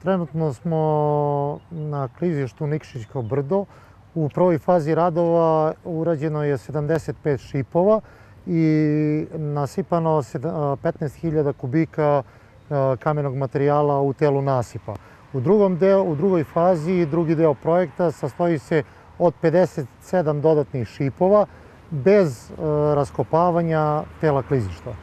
Trenutno smo na klizištu Nikšićko brdo. U prvoj fazi radova urađeno je 75 šipova i nasipano 15.000 kubika kamenog materijala u telu nasipa. U drugoj fazi, drugi deo projekta sastoji se od 57 dodatnih šipova bez raskopavanja tela klizišta.